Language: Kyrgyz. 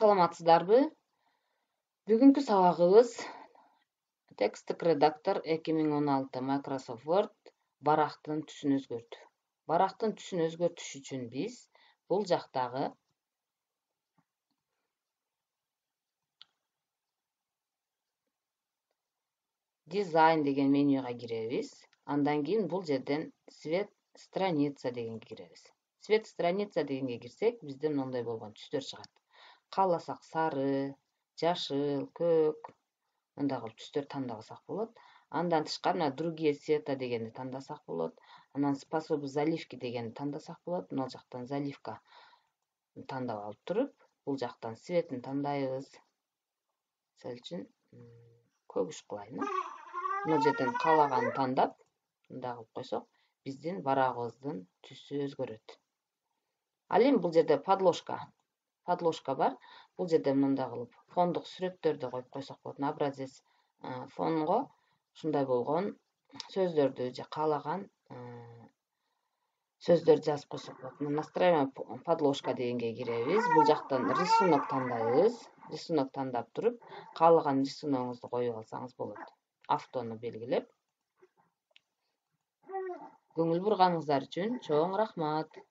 Саламатсыздарбы? Бүгүнкү сабагыбыз тексттик редактор 2016 Microsoft Word барактын түсүн өзгөрт. Барактын түсүн өзгөртүш үчүн биз бул жактагы дизайн деген менюга киребиз. Андан кийин бул жерден цвет страница дегенге киребиз. Цвет страница дегенге кирсек, бизде мындай болгон түстөр чыгат. Кааласак сары, жашыл, көк, мындай кылып түстөр тандабасак болот. Андан тышкары мына другие цвета дегенди тандасак болот. Анан способы заливки дегенди тандасак болот. Мына жактан заливка тандап алып туруп, бул жактан цветин тандайбыз. Мисалы үчүн көгүш кылайын. Мына жерден каалаганын тандап, мындай кылып койсок, биздин барагыбыздын түсү өзгөрөт. Ал эми бул жерде подложка бар. Бул жерде мындай кылып фондук сүрөттөрдү коюп койсок болот. Образец фонго ушундай болгон сөздөрдү же каалаган сөздөрдү жазып койсок болот. Настраиваемая подложка дегенге киребиз. Бул жактан рисунок тандайбыз. Рисунок тандап туруп, каалаган рисуногуңузду коюп алсаңыз болот. Автону белгилеп. Көңүл бурганыңыздар үчүн чоң рахмат.